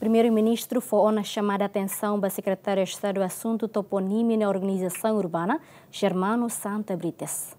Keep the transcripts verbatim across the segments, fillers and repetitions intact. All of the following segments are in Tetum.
Primeiru-Ministru fó ona xamada atensaun ba Sekretáriu Estadu Asuntu Toponímia no Organizasaun Urbana, Germano Santa Brites.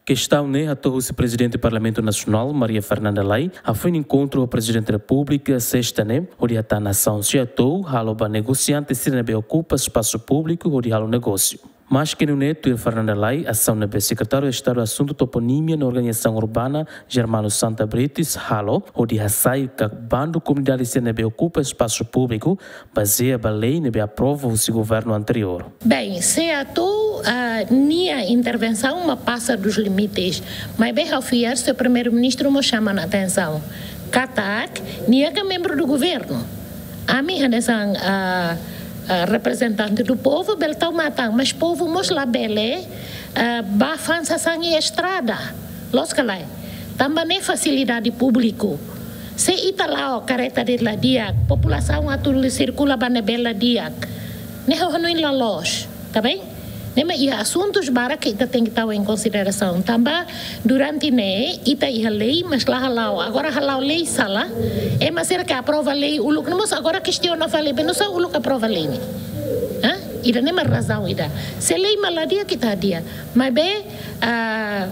Kestaun ne'e hato'o husi Prezidente Parlamentu Nasionál, Maria Fernanda Lay, hafoin enkontru ho Prezidente Repúblika, sesta ne'e, hodi hatán asaun sira atu halo ba negosiante sira ne'ebé okupa espasu públiku hodi halo negósiu. Maske nune'e, tuir Fernanda Lay, asaun ne'ebé Sekretáriu Estadu Asuntu Toponímia no Organizasaun Urbana, Germano Santa Brites, halo, hodi hasai ka bandu komunidade sira ne'ebé okupa espasu públiku, bazeia ba lei ne'ebé aprova husi governu anteriór. Bem, SEATOU, ah, nia intervensaun mak pasa dos limites. Maibé ha'u fiar se Primeiru-Ministru mós xama ona atensaun katak nia ka membru do governu. Ami hanesan, ah, ah, reprezentante do povu, bele tau matan, mas povu mós labele, ah, bá fa'an sasán iha estrada. Loos ka lae? Tanba ne'e fasilidade públiku. Se ita la'o kareta de'it la di'ak, populasaun atu sirkula ba ne'ebé la di'ak, ne'e ha'u hanoin la loos, tá bem? Ne'e mak iha asuntus barak ke ita tenke tau em consideração. Tanba durante ne'e ita iha lei, mas la hala'o. Agora hala'o lei sala. Ema sira ke aprova lei uluk ne'e mós agora kestiona fali, be nusá uluk aprova lei ne'e? Hã? Ida-ne'e mak razaun ida. Se lei mak la di'ak, ita hadi'a. Maibé, ah,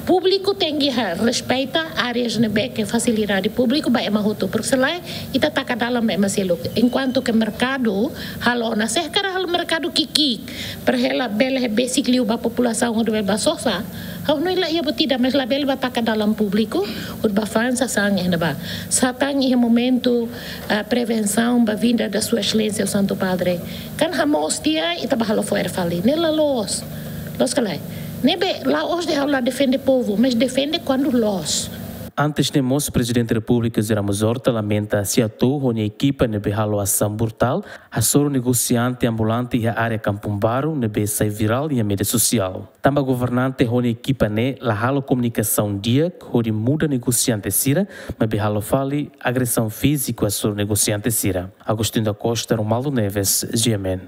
públiku tenke ha-, respeita áreas ne'ebé ke fasilidade públiku ba ema hotu, porke se lae ita taka dalan ba ema seluk. Enkuantu ke merkadu halo ona, se hakarak halo merkadu ki'ik-ki'ik, para hela bele besik liu ba populasaun hodi bele bá sosa, ha'u hanoin la iha buat ida, mas labele bá taka dalan públiku hodi bá fa'an sasán iha ne'ebá. Sá tan iha momentu, ah, prevensaun ba vinda da Sua Exelénsia o Santo Padre. Kan hamoos tiha ita bá halo fo'er fali. Ne'e la loos. Loos ka lae? Ne'ebé la'ós de'it ha'u la defende povu, mas defende kuandu loos. Antes ne'e mós, Prezidente Repúblika José Ramos Horta lamenta SEATOU ho nia ekipa ne'ebé halo asaun brutál, hasoru negosiante ambulante iha área Kampung Baru ne'ebé sai virál iha média sosiál. Tanba governante ho nia ekipa ne'e la halo komunikasaun di'ak hodi muda negosiante sira, maibé halo fali agresaun fíziku hasoru negosiante sira. Agostinho da Costa, Romualdo Neves, G M N.